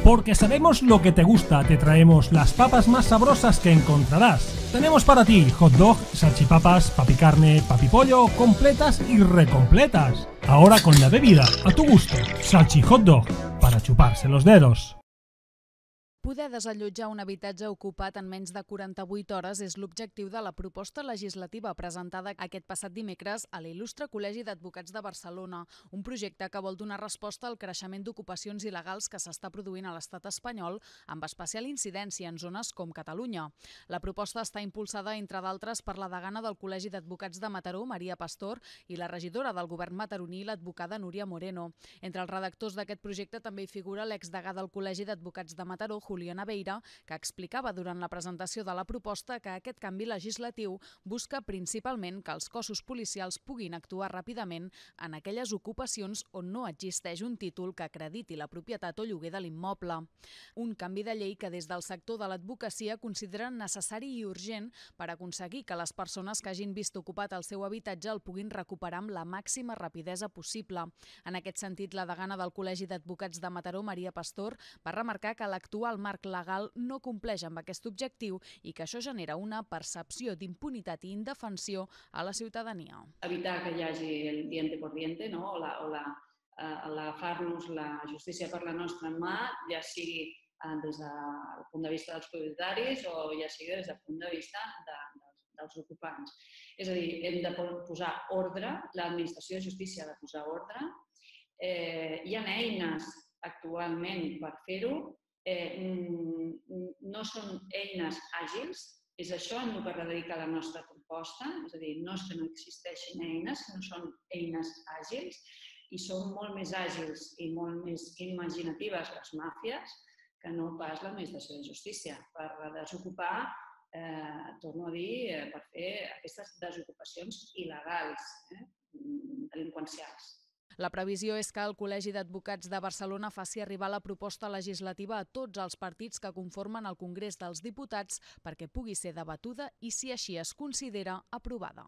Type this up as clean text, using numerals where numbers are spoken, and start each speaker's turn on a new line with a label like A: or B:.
A: Porque sabemos lo que te gusta, te traemos las papas más sabrosas que encontrarás. Tenemos para ti hot dog, salchipapas, papicarne, papipollo, completas y recompletas. Ahora con la bebida a tu gusto. Salchi hot dog, para chuparse los dedos.
B: Poder desallotjar un habitatge ocupat en menys de 48 hores és l'objectiu de la proposta legislativa presentada aquest passat dimecres a l'Il·lustre Col·legi d'Advocats de Barcelona, un projecte que vol donar resposta al creixement d'ocupacions il·legals que s'està produint a l'estat espanyol, amb especial incidència en zones com Catalunya. La proposta està impulsada, entre d'altres, per la degana del Col·legi d'Advocats de Mataró, Maria Pastor, i la regidora del govern mataroní, l'advocada Núria Moreno. Entre els redactors d'aquest projecte també hi figura l'exdegà del Col·legi d'Advocats de Mataró, Julián Aveira, que explicava durant la presentació de la proposta que aquest canvi legislatiu busca principalment que els cossos policials puguin actuar ràpidament en aquelles ocupacions on no existeix un títol que acrediti la propietat o lloguer de l'immoble. Un canvi de llei que des del sector de l'advocacia consideren necessari i urgent per aconseguir que les persones que hagin vist ocupat el seu habitatge el puguin recuperar amb la màxima rapidesa possible. En aquest sentit, la degana del Col·legi d'Advocats de Mataró, Maria Pastor, va remarcar que l'actual marc legal no compleix amb aquest objectiu i que això genera una percepció d'impunitat i indefensió a la ciutadania.
C: Evitar que hi hagi el diente por diente, no? L'agafar-nos la justícia per la nostra mà, ja sigui des del punt de vista dels propietaris o ja sigui des del punt de vista dels ocupants. És a dir, hem de posar ordre, l'administració de justícia ha de posar ordre. Hi ha eines actualment per fer-ho, no són eines àgils, és això en el que radica la nostra proposta, és a dir, no és que no existeixin eines, no són eines àgils i són molt més àgils i molt més imaginatives les màfies que no pas l'administració de justícia per desocupar, torno a dir, per fer aquestes desocupacions il·legals, delinqüencials.
B: La previsió és que el Col·legi d'Advocats de Barcelona faci arribar la proposta legislativa a tots els partits que conformen el Congrés dels Diputats perquè pugui ser debatuda i, si així es considera, aprovada.